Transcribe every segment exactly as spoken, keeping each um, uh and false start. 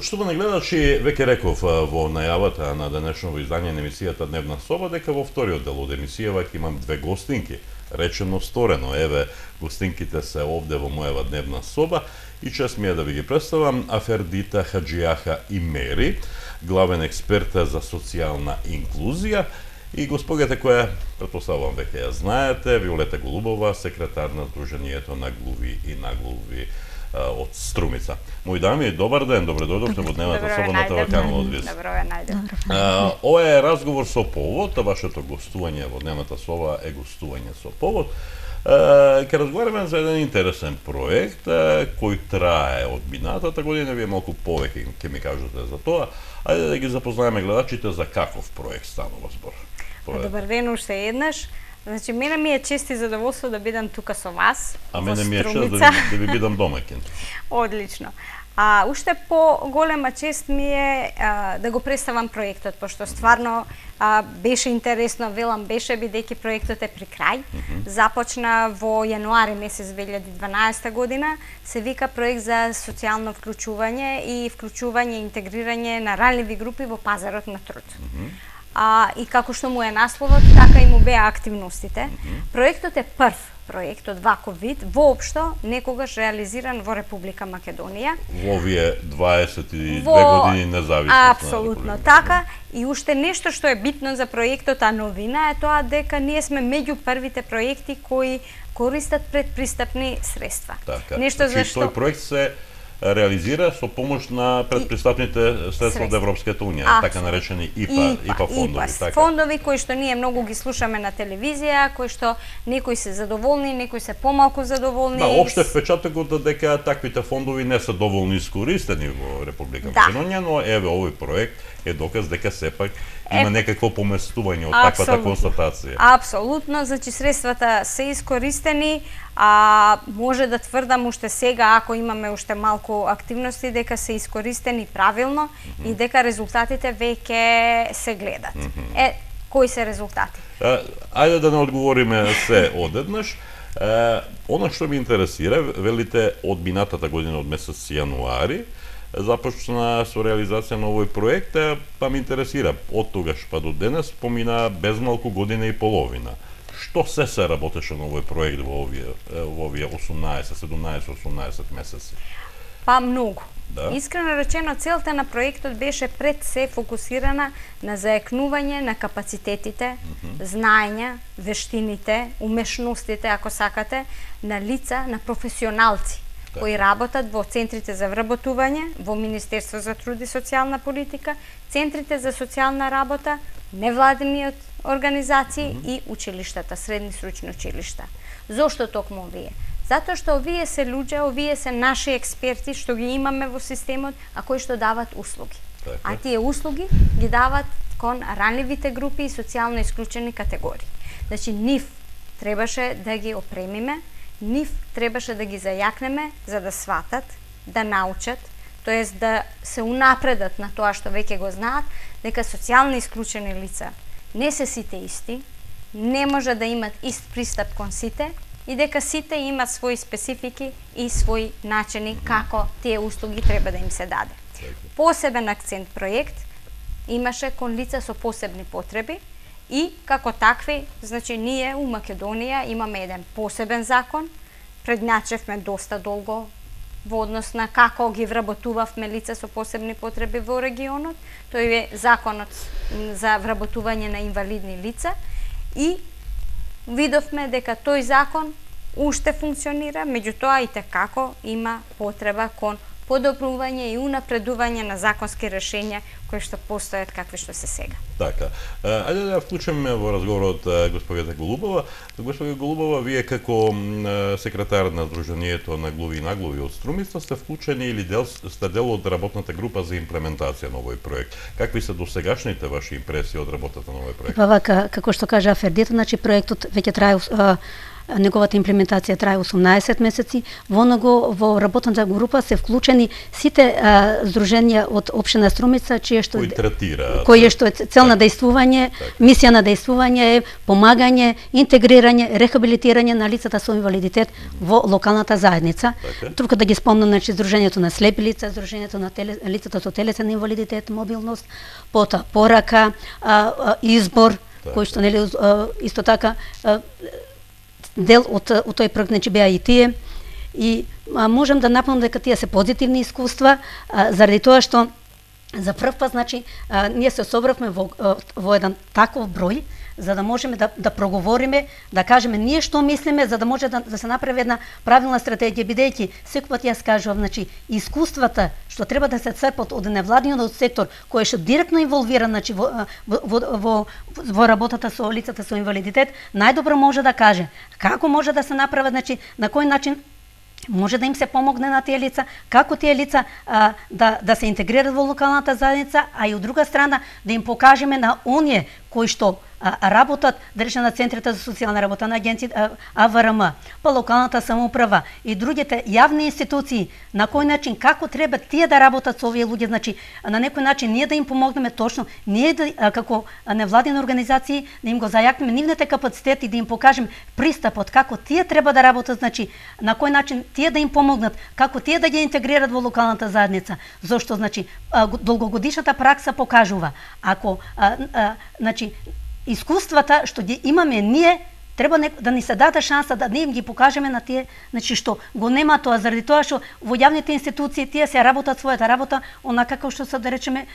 Почитувани гледачи, веќе реков во најавата на денешното издание на емисијата Дневна соба дека во вториот дел од емисијава ќе имам две гостинки. Речено сторено, еве гостинките се овде во мојава Дневна соба и чест ми е да ви ги представам Афердита Хаджијаха Имери, главен експерт за социјална инклузија, и госпогата која, претпоставувам веќе ја знаете, Виолета Голубова, секретар на Сдруженијето на глуви и наглуви од Струмица. Мои дами, добар ден, добре дојдовте во Дневната соба на телеканалот ВИС. Добро ве најдов. Ова е разговор со повод, вашето гостување во Дневната соба е гостување со повод. Ке разговараме за еден интересен проект кој трае од минатата година, вие малку повеќе ќе ми кажете за тоа. Ајде да ги запознаеме гледачите за каков проект станува збор. Добар ден уште еднаш. Значи, мене ми е чест и задоволство да бидам тука со вас. А мене ми е чест да, да ви бидам домаќин. Одлично. А уште по-голема чест ми е а, да го представам проектот, пошто стварно а, беше интересно, велам беше, бидејќи проектот е при крај. Mm -hmm. Започна во јануари месец две илјади и дванаесета година, се вика проект за социјално вклучување и вклучување и интегрирање на ранливи групи во пазарот на труд. Mm -hmm. А, и како што му е насловот, така и му беа активностите. Mm -hmm. Проектот е прв проект од ваков вид, воопшто некогаш реализиран во Република Македонија. Во овие дваесет и две во... години независност. Апсолутно така. И уште нешто што е битно за проектот, а новина е тоа дека ние сме меѓу првите проекти кои користат предпристапни средства. Така. Нешто значи, зашто тој проект се реализира со помош на предпристапните средства од Европската унија, Абсолютно. Така наречени ИПА, ИПА, ИПА фондови. ИПА, така. Фондови кои што ние многу ги слушаме на телевизија, кои што некои се задоволни, некои се помалку задоволни. Да, опште впечатокот дека таквите фондови не се доволно искористени во Република да. Македонија, но еве овој проект е доказ дека сепак има е, некакво поместување од таквата констатација. Апсолутно, значи средствата се искористени, а може да тврдам уште сега, ако имаме уште малку активности, дека се искористени правилно mm -hmm. и дека резултатите веќе се гледат. Mm -hmm. Е, кои се резултати? А, ајде да не одговориме се одеднаш. Е, она што ми интересира, велите од минатата година, од месец јануари, започна со реализација на овој проект, па ме интересира, од тогаш па до денес помина безмалку година и половина. Што се се работеше на овој проект во овие, во овие осумнаесет, седумнаесет, осумнаесет месеци? Па многу. Да? Искрено речено, целта на проектот беше пред се фокусирана на заекнување на капацитетите, mm -hmm. знаења, вештините, умешностите, ако сакате, на лица, на професионалци кои работат во центрите за вработување, во Министерство за труд и социјална политика, центрите за социјална работа, невладиниот организации mm -hmm. и училиштата, средни сручни училишта. Зошто токму овие? Затоа што овие се луѓе, овие се наши експерти што ги имаме во системот, а кои што дават услуги. Така. А тие услуги ги дават кон ранливите групи и социјално исклучени категории. Значи, нив требаше да ги опремиме, нив требаше да ги зајакнеме за да сватат, да научат, тоест да се унапредат на тоа што веќе го знаат, дека социјално исклучени лица не се сите исти, не може да имат ист пристап кон сите и дека сите имат своји специфики и своји начини како тие услуги треба да им се даде. Посебен акцент проект имаше кон лица со посебни потреби и како такви, значи ние у Македонија имаме еден посебен закон, предначевме доста долго во однос на како ги вработувавме лица со посебни потреби во регионот. Тој е законот за вработување на инвалидни лица и видовме дека тој закон уште функционира, меѓутоа и tekako има потреба кон подобрување и унапредување на законски решенја кои што постојат какви што се сега. Така. Ајде да ја вклучиме во разговорот госпогата Голубова. Госпога Голубова, вие како секретар на Сдруженијето на глуви и наглуви од Струмица сте вклучени или дел, сте дел од работната група за имплементација на овој проект. Какви се досегашните ваши импресии од работата на овој проект? Па вака, како што кажа Афердита, значи проектот веќе трае неговата имплементација трае осумнаесет месеци. Во него во работната група се вклучени сите а, здруженија од општина Струмица, чие што кои третира, кои што е цел на дејствување, мисија на дејствување е помагање, интегрирање, рехабилитирање на лицата со инвалидитет во локалната заедница. Тука да ги спомнам, значи здружењето на слепи лица, здружењето на теле, лицата со телесен инвалидитет, мобилност, пота порака, а, а, избор, так, кој што нели исто така а, дел од, од тој проект, значи беа и тие. И а, можам да напомнам дека тие се позитивни искуства, а, заради тоа што за прв пат, значи, а, ние се собравме во, во еден таков број, за да можеме да, да проговориме, да кажеме ние што мислиме, за да може да, да се направи една правилна стратегија, бидејќи секој пат јас кажувам, значи, искуствата што треба да се црпат од невладиниот сектор, кој што директно инволвиран, значи, во, во, во, во работата со лицата со инвалидитет, најдобро може да каже како може да се направи, значи, на кој начин може да им се помогне на тие лица, како тие лица а, да, да се интегрират во локалната заедница, а и од друга страна да им покажеме на оние кои што а, работат, да речем, на центрите за социјална работа, на агенција А В Р М, па локалната самоуправа и другите јавни институции, на кој начин, како треба тие да работат со овие луѓе, значи на некој начин ние да им помогнеме точно, ние да, а, како невладини организации да им го зајакнеме нивните капацитети, да им покажеме пристапот како тие треба да работат, значи на кој начин тие да им помогнат, како тие да ги интегрират во локалната заедница, зошто, значи, долгогодишната пракса покажува, ако а, а, значи искуствата што ги имаме ние, треба не, да ни се даде шанса да не им ги покажеме на тие, значи што го нема тоа, заради тоа што во јавните институции тие се работат својата работа онака како што се, да речеме,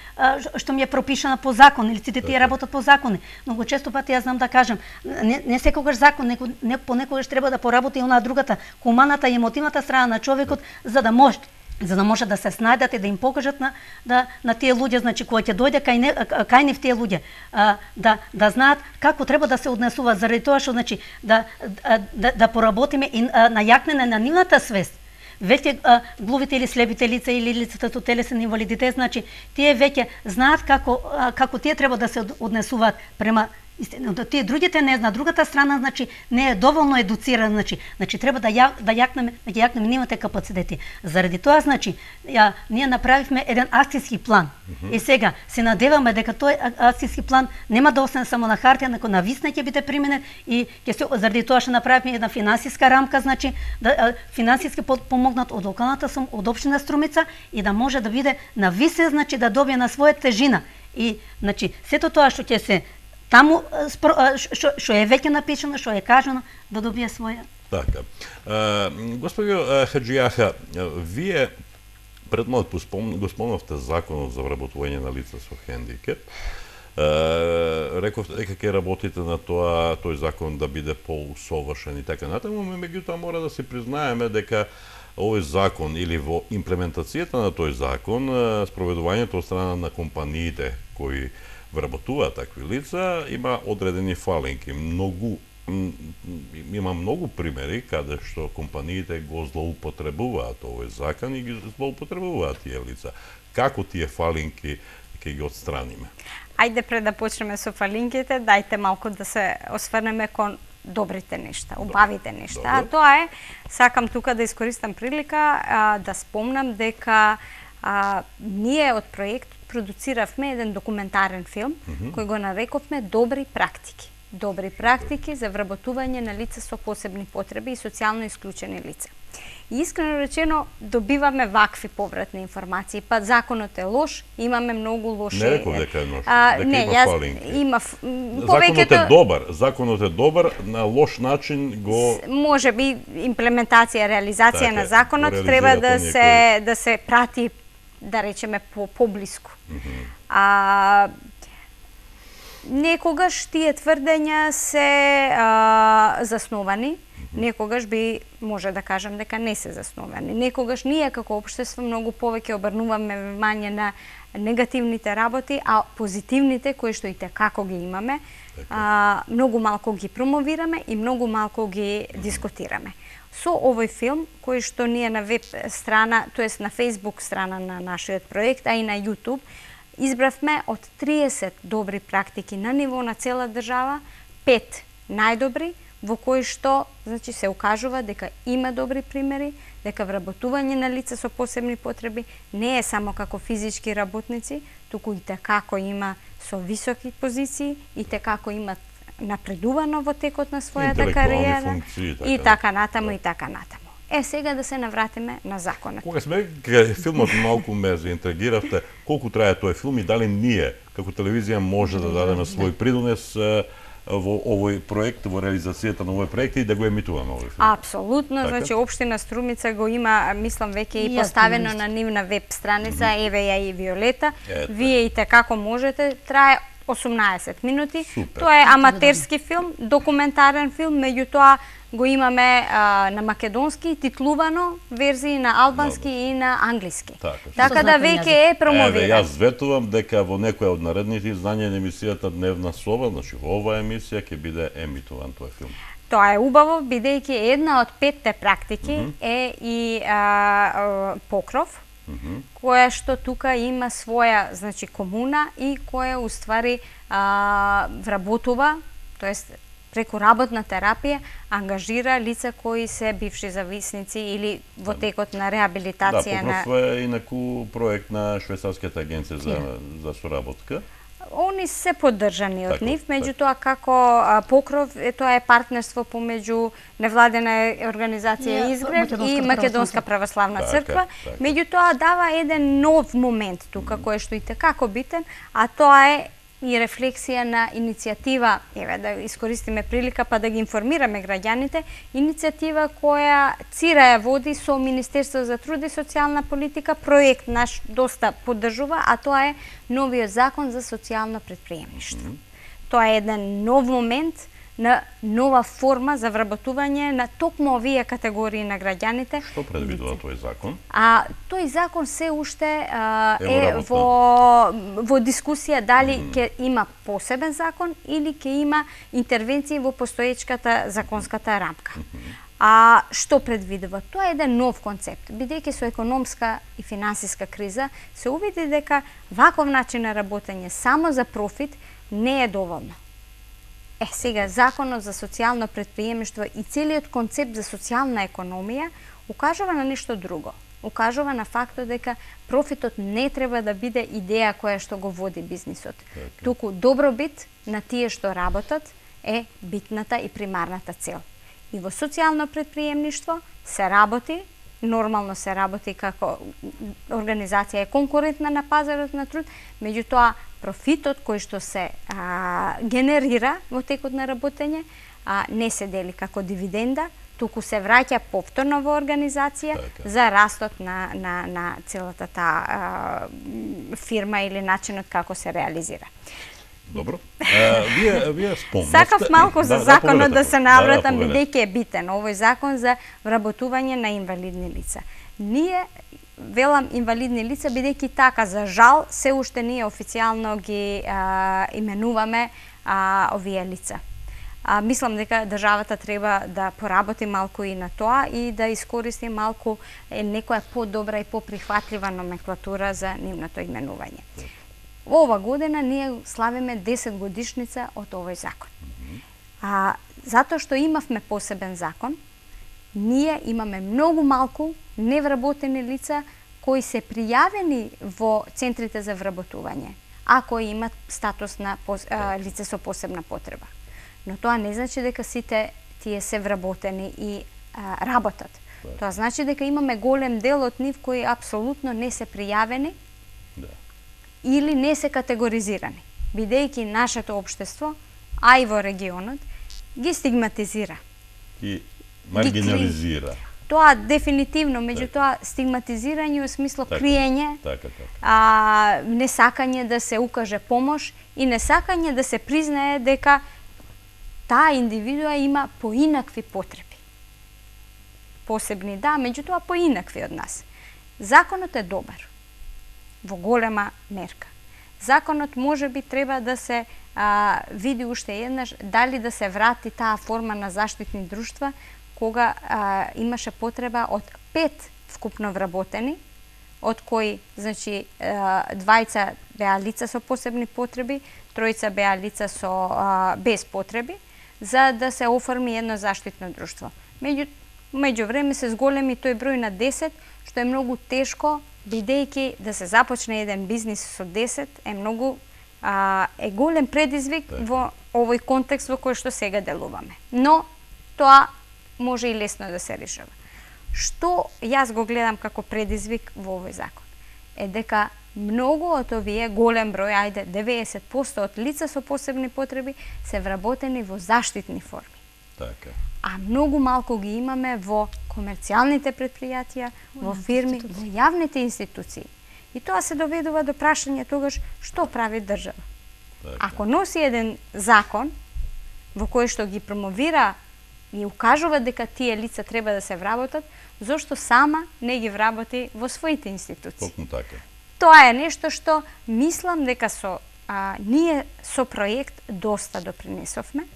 што ми е пропишана по закон, или сите тие работат по закони. Многу често пати јас знам да кажам, не, не секогаш закон, неко, не, понекогаш треба да поработи и онаа другата, хуманата и емотивната страна на човекот, за да може за да може да се снајдат и да им покажат на да на тие луѓе, значи кои ќе дојде кај не кај нив тие луѓе, а, да да знаат како треба да се однесуваат, заради тоа што, значи, да да, да поработиме и а, на јакнене на нивната свест. Веќе а, глувите или слепите лица или лицата со телесен инвалидитет, значи тие веќе знаат како а, како тие треба да се однесуваат према истина, тие другите не знаат, другата страна, значи не е доволно едуцирана, значи, значи треба да ја, да јакнеме, да ги јакнеме нивните капацитети. Заради тоа, значи, ја ние направивме еден акцијски план. Mm -hmm. И сега се надеваме дека тој акцијски план нема да остане само на хартија, неко на висна ќе биде применет и ќе се заради тоа што направивме една финансиска рамка, значи да финансиски помогнат од локалната сум, од општина Струмица и да може да биде на висе, значи да добие на своја тежина. И значи сето тоа што ќе се таму што е веќе напишано, што е кажано, да добие своја. Така. Господио Хаджијаха, вие пред малку го спомнавте законот за вработување на лица со хендикеп. Рековте дека ќе работите на тоа тој закон да биде поусовршен и така натаму, меѓутоа мора да се признаеме дека овој закон или во имплементацијата на тој закон, спроведувањето од страна на компаниите кои вработуваат такви лица, има одредени фалинки. Многу има многу примери каде што компаниите го злоупотребуваат овој закон и ги злоупотребуваат тие лица. Како тие фалинки ќе ги отстраниме? Ајде пред да почнеме со фалинките, дајте малку да се осврнеме кон добрите нешта, убавите нешта. Добре. А тоа е, сакам тука да искористам прилика а, да спомнам дека а, ние од проект продуциравме еден документарен филм mm -hmm. кој го нарекувме Добри практики. Добри практики за вработување на лица со посебни потреби и социјално исклучени лица. И искрено речено добиваме вакви повратни информации. Па законот е лош, имаме многу лоши. Не реков дека е лош, дека не, има јас, фалинки. Има повеќето... Законот е добар, законот е добар, на лош начин го може би имплементација, реализација така, на законот треба да се некој... да се прати, да речеме, по поблиску. Mm -hmm. А некогаш тие тврдења се а, засновани, mm -hmm. некогаш би може да кажам дека не се засновани. Некогаш ние како општество многу повеќе обрнуваме внимание на негативните работи, а позитивните кои што и како ги имаме, а, многу малку ги промовираме и многу малку ги mm -hmm. дискутираме. Со овој филм, кој што ние на веб страна, тоест на Facebook страна на нашиот проект, а и на YouTube, избравме од триесет добри практики на ниво на цела држава, пет најдобри, во кои што значи се укажува дека има добри примери, дека вработување на лица со посебни потреби не е само како физички работници, туку и како има со високи позиции, и како имат напредувано во текот на својата кариера функции, и така натаму и така натаму. Е, сега да се навратиме на законот. Кога сме кај филмот, малку ме заинтригиравте, колку трае тој филм и дали ние како телевизија може да дадеме свој придонес во овој проект, во реализацијата на овој проект и да го емитуваме овој филм? Апсолутно, така? Значи општина Струмица го има, мислам, веќе и поставено на нивна веб страница, mm -hmm. еве ја и Виолета. Ете. Вие и како можете, трае осумнаесет минути. Супер. Тоа е аматерски филм, документарен филм, меѓутоа го имаме а, на македонски, титлувано, верзии на албански Добре. И на англиски. Така, така да веќе е промовиран. Еве, јас ветувам дека во некоја од наредните издања на емисијата Дневна соба, значи во оваа емисија ќе биде емитуван тој филм. Тоа е убаво, бидејќи една од петте практики mm -hmm. е и а, а, Покров, Mm -hmm. која што тука има своја, значи, комуна и која уствари а, вработува, тоест преку работна терапија ангажира лица кои се бивши зависници или во текот на реабилитација. Да, Покров е инаку проект на Швајцарската агенција за, за соработка. Они се поддржани од нив, меѓутоа како а, Покров, е, тоа е партнерство помеѓу невладена организација Изгрев и Македонска православна црква. Меѓутоа дава еден нов момент тука, кој што и како битен, а тоа е и рефлексија на иницијатива, еве да искористиме прилика па да ги информираме граѓаните, иницијатива која ЦИРА ја води со Министерство за труд и социјална политика, проект наш доста поддржува, а тоа е новиот закон за социјално предприемништво. Mm -hmm. Тоа е еден нов момент на нова форма за вработување на токму овие категории на граѓаните. Што предвидува тој закон? А тој закон се уште а, е во во дискусија дали ќе mm. има посебен закон или ќе има интервенции во постоечката законската рамка. Mm -hmm. А што предвидува? Тоа е еден нов концепт, бидејќи со економска и финансиска криза се увиди дека ваков начин на работење само за профит не е доволно. Е, сега, Законот за социјално предприемништво и целиот концепт за социјална економија укажува на нешто друго. Укажува на фактот дека профитот не треба да биде идеја која што го води бизнисот. Okay. Туку добробит на тие што работат е битната и примарната цел. И во социјално предприемништво се работи, нормално се работи како организација е конкурентна на пазарот на труд, меѓутоа профитот кој што се а, генерира во текот на работење а, не се дели како дивиденда, туку се враќа повторно во организација така. За растот на, на, на целата таа а, фирма или начинот како се реализира. Добро. А, вие вие спомнавте. Сакав малку за да, законот да, да се навратам, да, да, бидејќи е битен овој закон за вработување на инвалидни лица. Ние велам инвалидни лица, бидејќи така, за жал, се уште ние официјално ги а, именуваме а, овие лица. А, мислам дека државата треба да поработи малку и на тоа и да искористи малку е, некоја подобра и поприхватлива номенклатура за нивното именување. Ова година ние славиме десет годишница од овој закон. А, затоа што имавме посебен закон, ние имаме многу малку невработени лица кои се пријавени во центрите за вработување, а кои имат статус на а, лице со посебна потреба. Но тоа не значи дека сите тие се вработени и а, работат. Тоа значи дека имаме голем дел од нив кои апсолутно не се пријавени или не се категоризирани, бидејќи нашето општество, а и во регионот, ги стигматизира. И маргинализира. Тоа дефинитивно, меѓутоа стигматизирање во смисло така, криење, така, така. А, несакање да се укаже помош и несакање да се признае дека таа индивидуа има поинакви потреби. Посебни да, меѓутоа поинакви од нас. Законот е добар во голема мерка. Законот може би треба да се а, види уште еднаш дали да се врати таа форма на заштитни друштва кога а, имаше потреба од пет вкупно вработени, од кои, значи, а, двајца беа лица со посебни потреби, тројца беа лица со а, без потреби, за да се оформи едно заштитно друштво. Меѓу меѓу време се зголеми тој број на десет, што е многу тешко, бидејќи да се започне еден бизнис со десет е многу а, е голем предизвик во овој контекст во кој што сега делуваме. Но тоа може и лесно да се решава. Што јас го гледам како предизвик во овој закон е дека многу од овие голем број, ајде деветдесет проценти од лица со посебни потреби се вработени во заштитни форми. Така. А многу малку ги имаме во комерцијалните предпријатија, во фирми, во јавните институции. И тоа се доведува до прашање тогаш што прави држава. Така. Ако носи еден закон во кој што ги промовира и укажува дека тие лица треба да се вработат, зошто сама не ги вработи во своите институции? Токму така. Тоа е нешто што мислам дека со а, ние со проект доста допринесовме.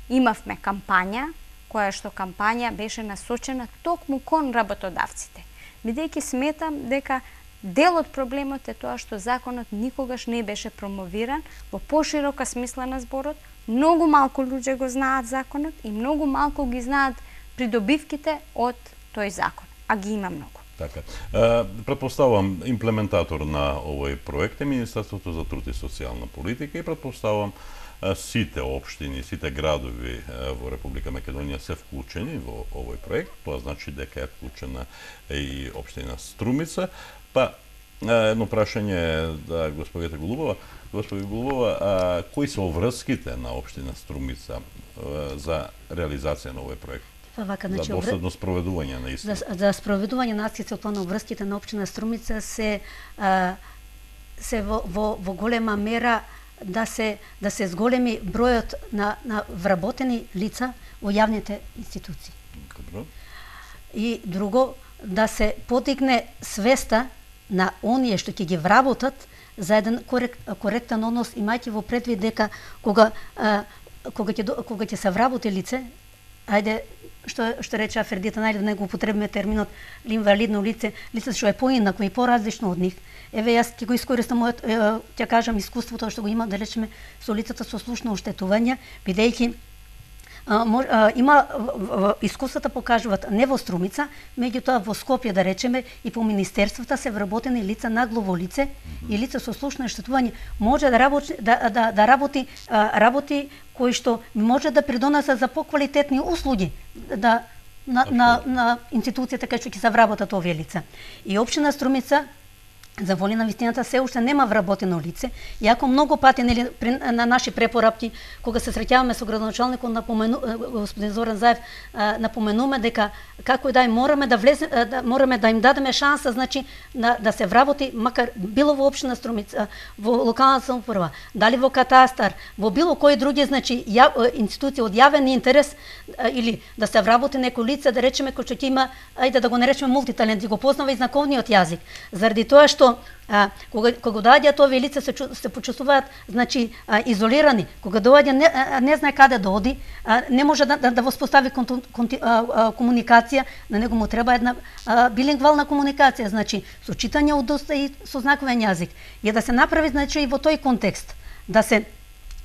Имавме кампања, која што кампања беше насочена токму кон работодавците. Бидејќи сметам дека дел од проблемот е тоа што законот никогаш не беше промовиран во поширока смисла на зборот. Многу малку луѓе го знаат законот и многу малку ги знаат придобивките од тој закон, а ги има многу. Така. Е, претпоставувам имплементатор на овој проект е Министерството за труд и социјална политика и претпоставувам сите општини, сите градови во Република Македонија се вклучени во овој проект. Тоа значи дека е вклучена и општина Струмица. Па едно прашање да господите Голубова. Господи Голубова, а, кои се обврските на општина Струмица а, за реализација на овој проект? Па вака, значи, за доследно спроведување на истина. За, за спроведување на акцијата план обврските на општина Струмица се а, се во, во, во голема мера да се да се зголеми бројот на на вработени лица во јавните институции. Добро. И друго, да се подигне свеста на оние што ќе ги вработат за еден корект, коректен однос, имајќи во предвид дека кога а, кога ќе кога ќе се вработи лице, ајде што што рече Фердита, најде да не го употребиме терминот инвалидно лице, лице што е поинакво и поразлично од нив. Еве јас ќе го искористам мојот, ќе кажам искуството што го има, да речеме, со лицата со слушно оштетување, бидејќи А, мож, а, има в, в, искуствата покажуваат не во Струмица, меѓутоа во Скопје, да речеме, и по министерствата се вработени лица наглово лице mm-hmm. и лица со слушно оштетување може да работи да да, да работи а, работи кои што може да придонесат за поквалитетни услуги да на на, на институцијата кај што ќе се вработат овие лица. И општина Струмица за воли на вистината се уште нема вработено лице, иако многу пати нели на наши препорапки кога се среќаваме со градоначалникот напомену господин Зоран Заев, напоменуваме дека како и да мораме да влезе да мораме да им дадеме шанса, значи на, да се вработи макар било во општина Струмица, во локална самоуправа, дали во катастар, во било кои други, значи ја, институции од јавен интерес, или да се вработи некој лице, да речеме кој што ќе има, ајде да го наречеме мултиталент, и го познава и знаковниот јазик, заради тоа што А, кога кога доаѓаат овие лица се се почувствуваат, значи а, изолирани, кога доаѓа не, а, не знае каде да оди, а, не може да да, да воспостави конту, конти, а, а, комуникација, на него му треба една а, билингвална комуникација, значи со читање од уста и со знаковен јазик. И да се направи, значи, и во тој контекст да се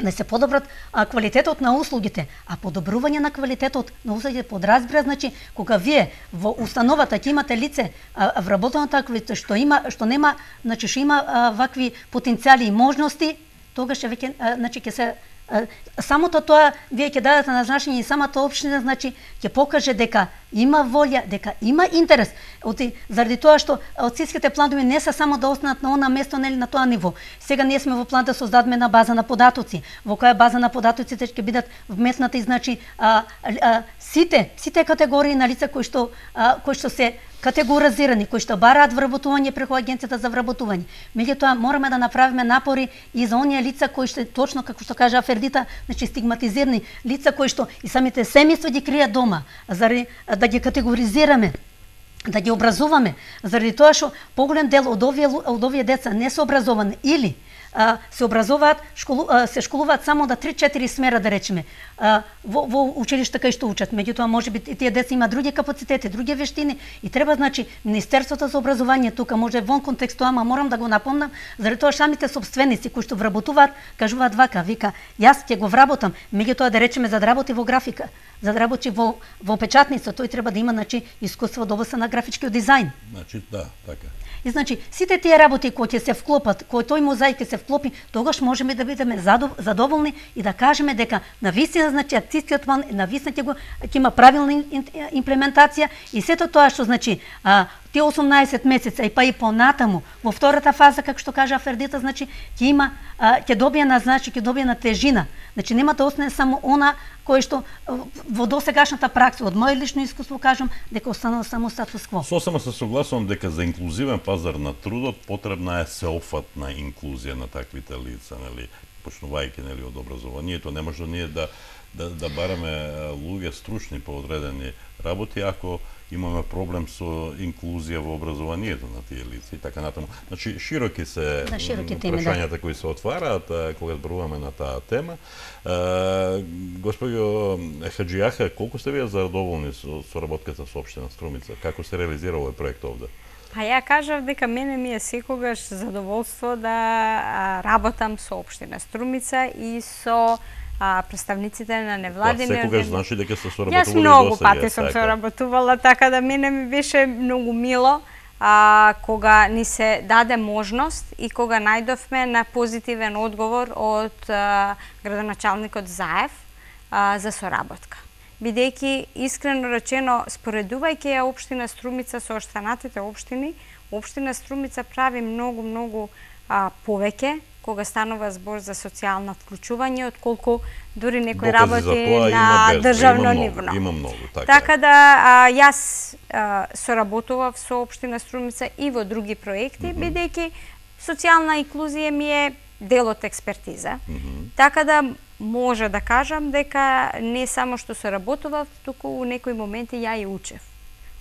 да се подобрат а, квалитетот на услугите, а подобрување на квалитетот на услугите подразбира, значи кога вие во установата ќе имате лице а, вработено такво лице што има што нема, значи што има а, вакви потенцијали и можности, тогаш веќе значи ќе се а, самото тоа вие ќе дадете назначење и самата општина, значи ќе покаже дека има волја, дека има интерес. Оти заради тоа што акцијските планови не се само да останат на она место, нели на тоа ниво. Сега ние сме во план да создадеме на база на податоци, во која база на податоците ќе бидат вметнати, значи а, а, сите сите категории на лица кои што а, кои што се категоризирани, кои што бараат вработување преку агенцијата за вработување. Меѓутоа мораме да направиме напори и за оние лица кои што точно како што кажа Фердита, значи стигматизирани лица кои што и самите семејства ги кријат дома, заради да ги категоризираме, да ги образуваме, заради тоа што поголем дел од овие од овие деца не се образовани или а, се образуваат, школу, а, се школуваат само да три-четири смера, да речеме, а, во, во училишта кај што учат. Меѓутоа, може би тие деца има други капацитети, други вештини и треба, значи, Министерството за образование тука може вон контексту, ама морам да го напомнам, заради тоа самите собственици кои што вработуваат, кажуваат вака, вика, јас ќе го вработам, меѓутоа да речеме за да работи во графика, за да работи во во печатница, тој треба да има, значи, искуство во областа на графичкиот дизајн. Значи, да, така. И значи, сите тие работи кои ќе се вклопат, кои тој мозаик ќе се вклопи, тогаш можеме да бидеме задоволни и да кажеме дека навистина, значи, акцијскиот план навистина ќе го ќе има правилна имплементација и сето тоа што, значи, а, тие осумнаесет месеца и па и понатаму во втората фаза, како што кажа Фердита, значи ќе има ќе добие на, значи ќе добие на тежина. Значи нема да остане само она кое што во досегашната пракса, од моје лично искуство кажам дека останало само статус кво. Сосема се согласувам дека за инклузивен пазар на трудот потребна е сеопфатна инклузија на таквите лица, нели, почнувајќи, нели, од образованието, не може ние да да да бараме луѓе стручни по одредени работи ако имаме проблем со инклузија во образованието на тие лица и така натаму. Значи, широки се да, широки теми, прашањата да. кои се отвараат кога зборуваме на таа тема. Господјо Хаџијаха, колку сте вие задоволни со соработката со општина Струмица? Како се реализира овој проект овде? Па ја кажав дека мене ми е секогаш задоволство да работам со општина Струмица и со а, представниците на невладини организации. Секогаш значи дека сте соработували Јас многу пати сум соработувала, така да мене ми беше многу мило а, кога ни се даде можност и кога најдовме на позитивен одговор од а, градоначалникот Заев а, за соработка. Бидејќи, искрено речено, споредувајќи ја општина Струмица со останатите општини, општина Струмица прави многу, многу а, повеќе кога станува збор за социјално вклучување, отколку дури некои работи на државно ниво. Има многу, така. Така да а, јас а, соработував со општина Струмица и во други проекти, mm -hmm. бидејќи социјална инклузија ми е дел од експертиза. Mm -hmm. Така да може да кажам дека не само што соработував, туку у некои моменти ја и учев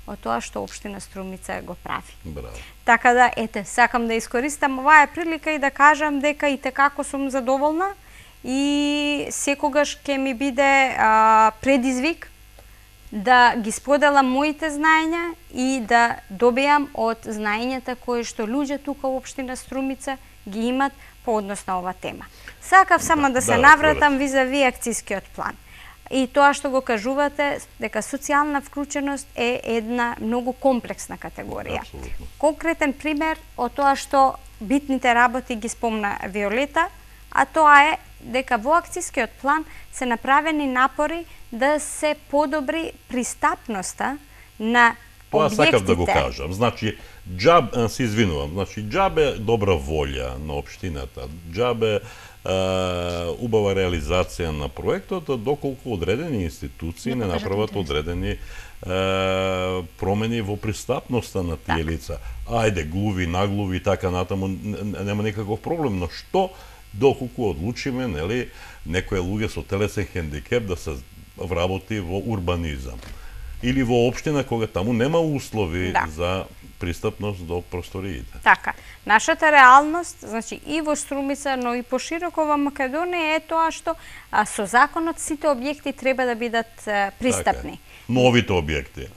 од тоа што општина Струмица го прави. Браво. Така да, ете, сакам да искористам оваа прилика и да кажам дека и tekako сум задоволна и секогаш ќе ми биде а, предизвик да ги споделам моите знаења и да добијам од знаењата кои што луѓе тука во општина Струмица ги имат по однос на оваа тема. Сакав само да, да се да, навратам визави акцијскиот план. И тоа што го кажувате, дека социјална вклученост е една многу комплексна категорија. Абсолютно. Конкретен пример од тоа што битните работи ги спомна Виолета, а тоа е дека во акцијскиот план се направени напори да се подобри пристапноста на тоа објектите. Тоа сакав да го кажам. Значи, џаб, се извинувам, значи џабе добра волја на општината, џабе убава реализација на проектот, доколку одредени институции не направат одредени е, промени во пристапноста на тие так. лица. Ајде, глуви, наглуви, така натаму, нема никаков проблем, но што доколку одлучиме, нели, некои луѓе со телесен хендикеп да се вработи во урбанизам или во општина кога таму нема услови да. за пристапност до просториите. Така, нашата реалност, значи и во Струмица, но и пошироко во Македонија е тоа што а, со законот сите објекти треба да бидат а, пристапни. Така, новите објекти.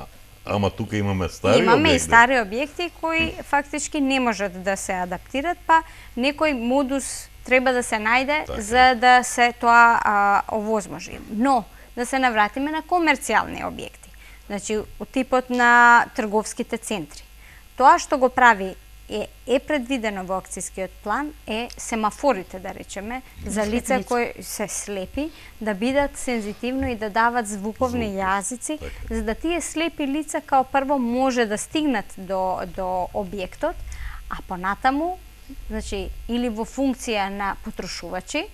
Ама тука имаме стари имаме објекти. Имаме и стари објекти кои фактички не можат да се адаптират, па некој модус треба да се најде така. за да се тоа а, овозможи. Но, да се навратиме на комерцијални објекти. Значи, од типот на трговските центри. Тоа што го прави е, е предвидено во акцијскиот план е семафорите, да речеме, за лица кои се слепи, да бидат сензитивно и да дават звуковни Звук. јазици, така. за да тие слепи лица као прво може да стигнат до, до објектот, а понатаму, значи, или во функција на потрошувачи,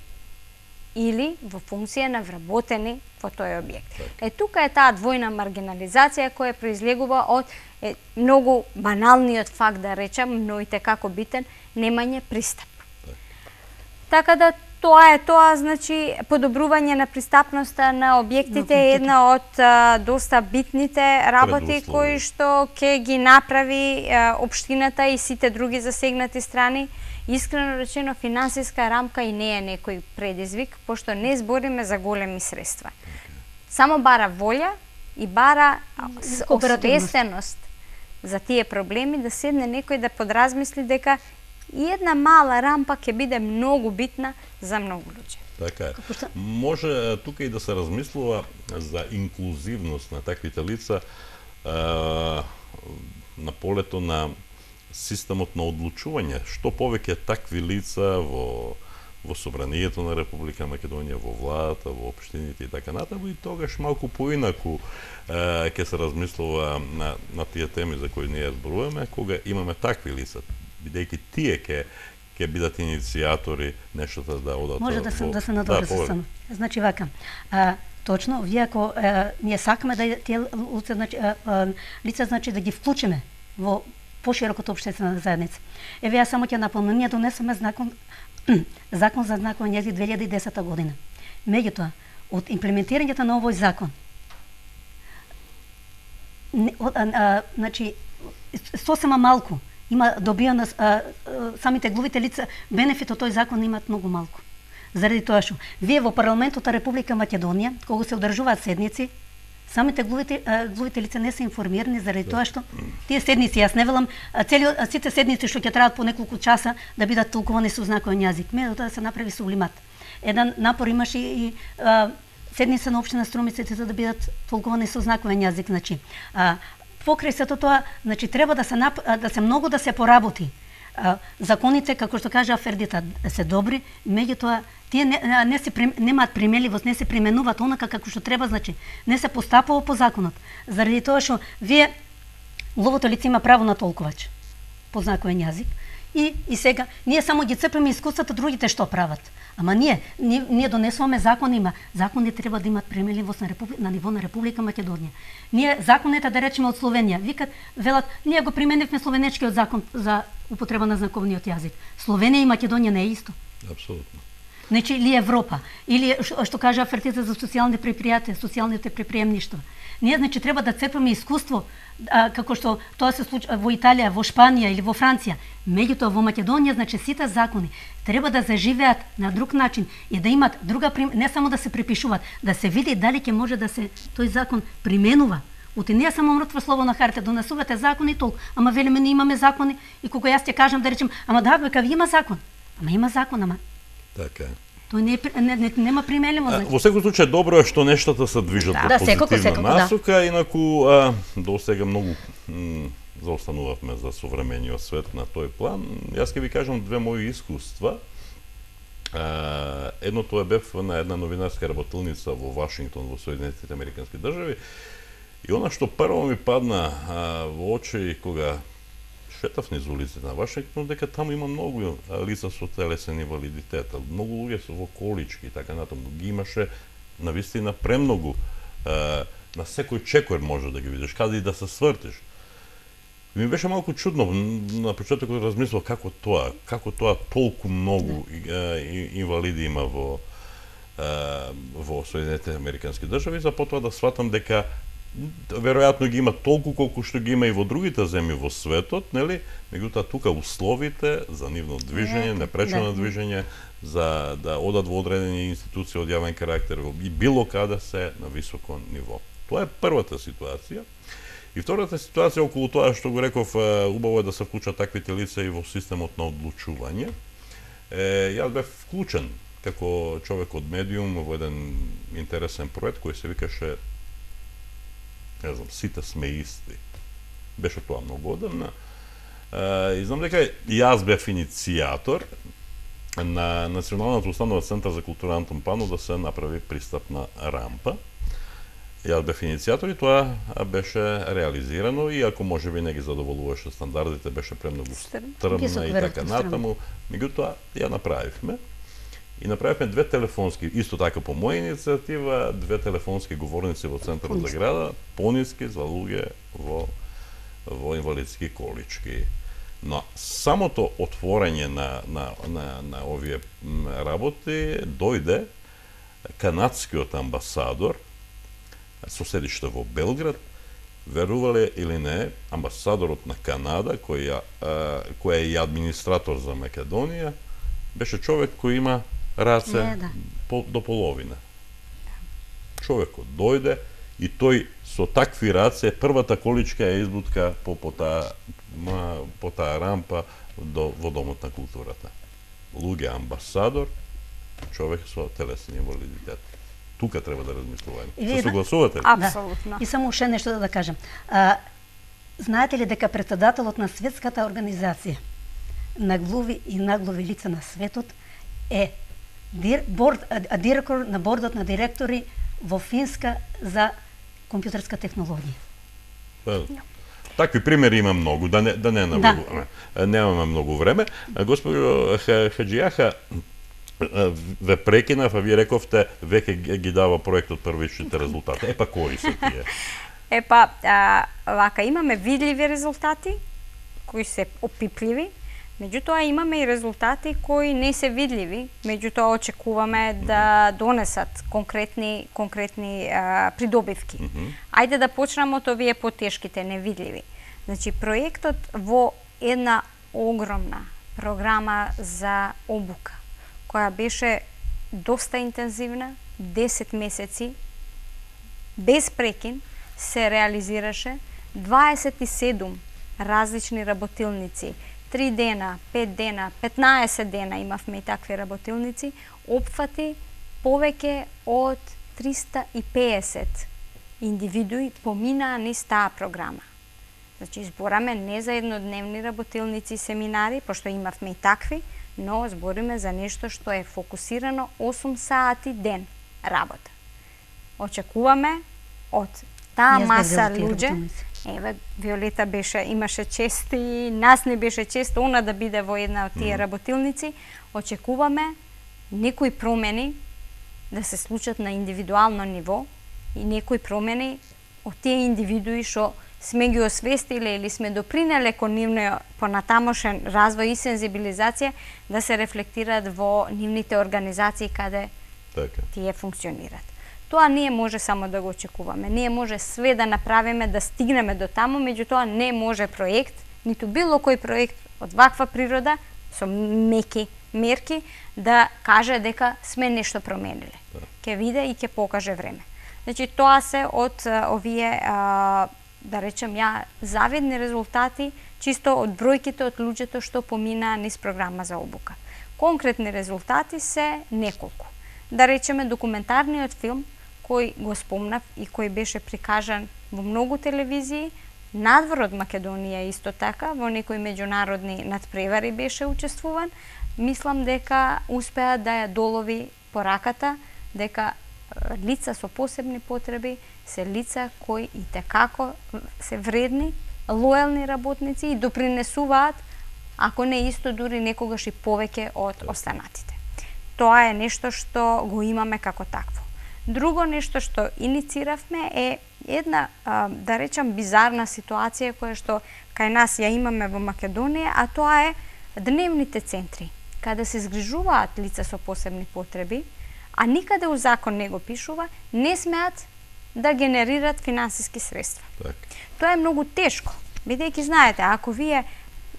или во функција на вработени во тој објект. Так. Е, тука е таа двојна маргинализација која произлегува од е, многу баналниот факт, да речам, но и tekako битен, немање пристап. Так. Така да Тоа е тоа, значи, подобрување на пристапноста на објектите е една од а, доста битните работи кои што ќе ги направи а, општината и сите други засегнати страни. Искрено речено, финансиска рамка и не е некој предизвик, пошто не збориме за големи средства. Само бара волја и бара освестеност за тие проблеми, да седне некој да подразмисли дека и една мала рампа ќе биде многу битна за многу луѓе. Така е. Може тука и да се размислува за инклузивност на таквите лица а, на полето на системот на одлучување. Што повеќе такви лица во во собранието на Република Македонија, во владата, во општините и така натаму, и тогаш малку поинаку ќе се размислува на, на тие теми за кои ние зборуваме, кога имаме такви лица, бидејќи тие ќе ќе бидат иницијатори нештото да одат. Може да се да се надоврзам само. Значи вака. А, точно, вие ако а, ние сакаме да тие лица, значи а, а, лица значи да ги вклучиме во пошироката општествена заедница. Еве ја само ќе напомнам, ние донесоме закон закон за знаковен јазик две илјади и десета година. Меѓутоа, од имплементирањето на овој закон, не, а, а, значи сосема малку има добиено, а, а, самите глувите лица бенефит од тој закон имаат многу малку. Заради тоа што вие во парламентот на Република Македонија, кога се одржуваат седници, самите глувите, а, глувите лица не се информирани заради тоа што тие седници, јас не велам цели сите седници што ќе траат по неколку часа да бидат толкувани со знаковен јазик. Меѓутоа да се направи сублимат. Еден напор имаше и а, седница на општина Струмица за да бидат толкувани со знаковен јазик, значи. А, покрај сето тоа, значи треба да се нап... да се многу да се поработи. А, законите, како што кажа Фердита, се добри, меѓутоа тие не, не се немаат примеливост, не се применуваат онака како што треба, значи не се постапува по законот. Заради тоа што вие ловото лице има право на толкувач по знаковен јазик и и сега ние само ги цепиме искуствата другите што прават. Ама ние, ние, ние донесуваме закон, има. Закони треба да имат применливост на, Републи... на ниво на Република Македонија. Ние законите, да речеме, од Словенија, викат, велат, ние го применивме словенечкиот закон за употреба на знаковниот јазик. Словенија и Македонија не е исто. Апсолутно. Значи, или Европа, или што, што кажа Фертица за социјални предпријатија, социјалните предприемништва. Ние, значи, треба да цепаме искуство, а, како што тоа се случи во Италија, во Шпанија или во Франција. Меѓутоа, во Македонија, значи, сите закони треба да заживеат на друг начин и да имат друга, не само да се препишуваат, да се види дали ќе може да се тој закон применува. Оти не е само мртво слово на харта, донесувате закони толку, ама велиме не имаме закони и кога јас ќе кажам да речем, ама да, бека ви има закон. Ама има закон, ама така е. Тој не, не, не, нема применливост. Значи. Во секој случај добро е што нештата се движат да, во да, позитивна секако, секако, насока, да. инаку а, до сега многу м, заостанувавме за современиот свет на тој план. Јас ќе ви кажам две мои искуства. А, едното е бев на една новинарска работилница во Вашингтон, во Соединетите Американски држави. И она што прво ми падна а, во очи кога шетав низ улиците на Вашингтон, дека таму има многу лица со телесен инвалидитет, многу луѓе со во колички и така натаму. Ги имаше навистина премногу, а, на секој чекор може да ги видиш, каде и да се свртиш. Ми беше малку чудно на почетокот размислав како тоа, како тоа толку многу а, инвалиди има во а, во Соединетите Американски држави, за потоа да сватам дека веројатно ги има толку колку што ги има и во другите земји во светот, нели? Меѓутоа тука условите за нивно движење, непречено да. движење, за да одат во одредени институции од јавен карактер и било каде се на високо ниво. Тоа е првата ситуација. И втората ситуација околу тоа што го реков, убаво е да се вклучат таквите лица и во системот на одлучување. Е, јас бев вклучен како човек од медиум во еден интересен проект кој се викаше, не знам, сите сме исти. Беше тоа многу одамна. И знам дека јас бев иницијатор на Националната установа Центар за култура Антон Панов да се направи пристапна рампа. Јас бев иницијатор и тоа беше реализирано, и ако можеби не ги задоволуваше стандардите, беше премногу стрмна и така натаму. Меѓутоа ја направивме. И направивме две телефонски, исто така по моја иницијатива, две телефонски говорници во центарот за града, пониски за луѓе во во инвалидски колички. Но самото отворање на, на, на, на овие работи дојде канадскиот амбасадор со седиште во Белград, верувале или не, амбасадорот на Канада, кој, кој е и администратор за Македонија, беше човек кој има раце не, да. по, до половина. Човекот дојде и тој со такви раце првата количка е избутка по, по, таа, по таа рампа до, во Домот на културата. Луѓе амбасадор, човек со телесен инвалидитет. Тука треба да размислуваме. Се согласувате ли? Апсолутно. Да. И само уште нешто да, да кажам. А, знаете ли дека председателот на Светската организација наглуви и наглуви лица на светот е дир, борд, а, директор на бордот на директори во Финска за компјутерска технологија. Па, такви примери има многу, да не да не навлегуваме. Да. Немаме многу време. Госпожо Хаџијаха, ве прекинав, а ви рековте веќе ги дава проектот првичните резултати. Епа кои се тие? Епа, а, вака имаме видливи резултати кои се опипливи, меѓутоа имаме и резултати кои не се видливи, меѓутоа очекуваме да донесат конкретни конкретни а, придобивки. Mm -hmm. Ајде да почнеме од овие потешките, невидливи. Значи проектот во една огромна програма за обука, која беше доста интензивна, десет месеци, без прекин, се реализираше дваесет и седум различни работилници, три дена, пет дена, петнаесет дена имавме и такви работилници, опфати повеќе од триста и пеесет индивидуи поминаа низ таа програма. Значи, збораме не за еднодневни работилници и семинари, пошто имавме и такви, но збориме за нешто што е фокусирано осум сати ден работа. Очекуваме од таа маса луѓе, еве Виолета беше имаше чест и нас не беше чест она да биде во една од тие работилници, очекуваме некои промени да се случат на индивидуално ниво и некои промени од тие индивидуи што сме ги освестиле или сме допринеле кон нивниот понатамошен развој и сензибилизација да се рефлектираат во нивните организации каде така тие функционираат. Тоа ние може само да го очекуваме. Ние може све да направиме да стигнеме до таму, меѓутоа не може проект, ниту било кој проект од ваква природа со меки мерки да каже дека сме нешто промениле. Да. Ќе види и ќе покаже време. Значи тоа се од овие а, да речем ја завидни резултати чисто од бројките од луѓето што поминаа низ програма за обука. Конкретни резултати се неколку. Да речеме документарниот филм кој го спомнав и кој беше прикажан во многу телевизии, надвор од Македонија исто така, во некои меѓународни надпревари беше учествуван, мислам дека успеа да ја долови пораката, дека лица со посебни потреби се лица кои и текако се вредни, лојални работници и допринесуваат, ако не исто дури некогаш и повеќе од останатите. Тоа е нешто што го имаме како такво. Друго нешто што иницииравме е една, да речам, бизарна ситуација која што кај нас ја имаме во Македонија, а тоа е дневните центри, каде се згрижуваат лица со посебни потреби, а никаде у закон не го пишува, не смеат да генерират финансиски средства. Так. Тоа е многу тешко, бидејќи знаете, ако вие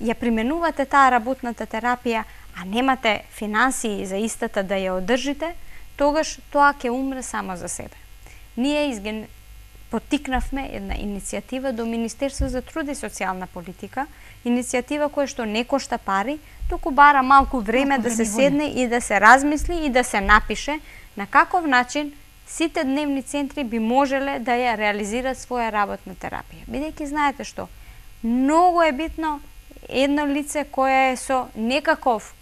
ја применувате таа работната терапија, а немате финансии за истата да ја одржите, тогаш тоа ќе умре само за себе. Ние изген... потикнавме една иницијатива до Министерство за труд и социјална политика, иницијатива која што не кошта пари, туку бара малку време малку да се седне и да се размисли и да се напише на каков начин сите дневни центри би можеле да ја реализираат своја работна терапија. Бидејќи знаете што, многу е битно едно лице кое е со некаков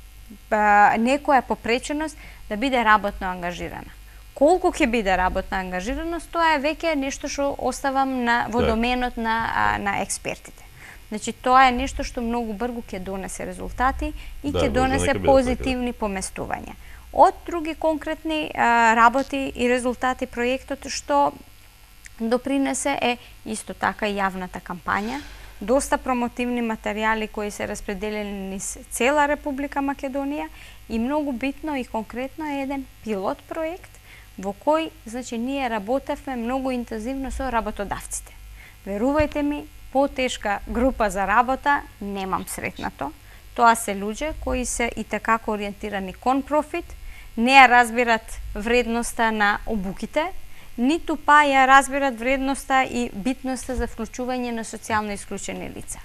некоја попреченост да биде работно ангажирана. Колку ќе биде работна ангажираност, тоа е веќе нешто што оставам на во доменот на на експертите. Значи тоа е нешто што многу брзо ќе донесе резултати и ќе да, донесе позитивни така. Поместувања. Од други конкретни а, работи и резултати проектот што допринесе е исто така јавната кампања доста промотивни материјали кои се распределени низ цела Република Македонија и многу битно и конкретно е еден пилот проект во кој, значи, ние работевме многу интензивно со работодавците. Верувајте ми, потешка група за работа немам сретнато. Тоа се луѓе кои се и такако ориентирани кон профит, не ја разбират вредноста на обуките, ниту па ја разбират вредноста и битноста за вклучување на социјално исклучени лица.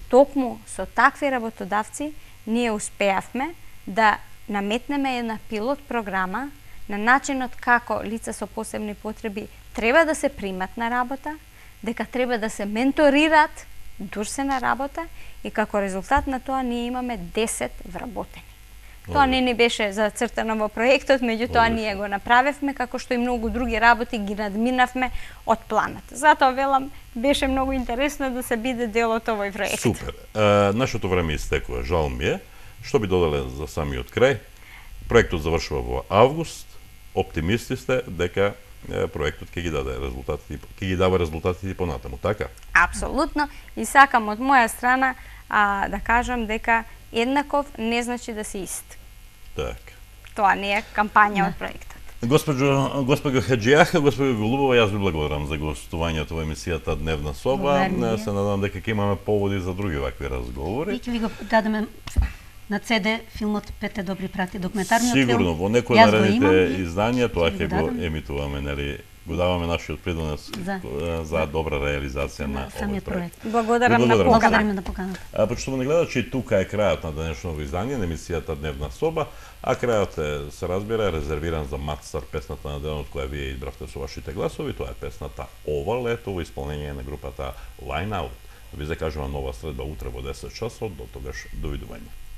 Токму со такви работодавци ние успеавме да наметнеме една пилот програма на начинот како лица со посебни потреби треба да се примат на работа, дека треба да се менторираат дур се на работа и како резултат на тоа ние имаме десет вработени. Тоа не ни беше зацртано во проектот, меѓутоа ние го направевме, како што и многу други работи ги надминавме од планот. Затоа велам, беше многу интересно да се биде дел од овој проект. Супер. А, нашето време истекува, жал ми е. Што би додале за самиот крај? Проектот завршува во август. Оптимисти сте дека проектот ќе ги даде резултатите, ќе ги дава резултатите понатаму, така? Апсолутно. И сакам од моја страна а, да кажам дека еднаков не значи да си ист. Так. Тоа не е кампања од проектот. Госпожо, госпожо Хаджијаха, госпожо Голубова, јас ви благодарам за гостувањето во емисијата Дневна соба. Се надам дека ќе имаме поводи за други вакви разговори. И ќе ви го дадеме на Це Де филмот Петте добри прати, документарниот филм. Сигурно, во некои наредните изданија тоа ќе го емитуваме, нели, го даваме нашиот придонес за, за добра реализација на овој проект. Благодарам на поканата. на поканата. А почитувани гледачи, тука е крајот на денешното издание на емисијата Дневна соба, а крајот е, се разбира, резервиран за Матстар, песната на денот која вие избравте со вашите гласови. Тоа е песната Ова лето во исполнение на групата Line Out. Ви закажувам нова средба утре во десет часот, до тогаш довидување.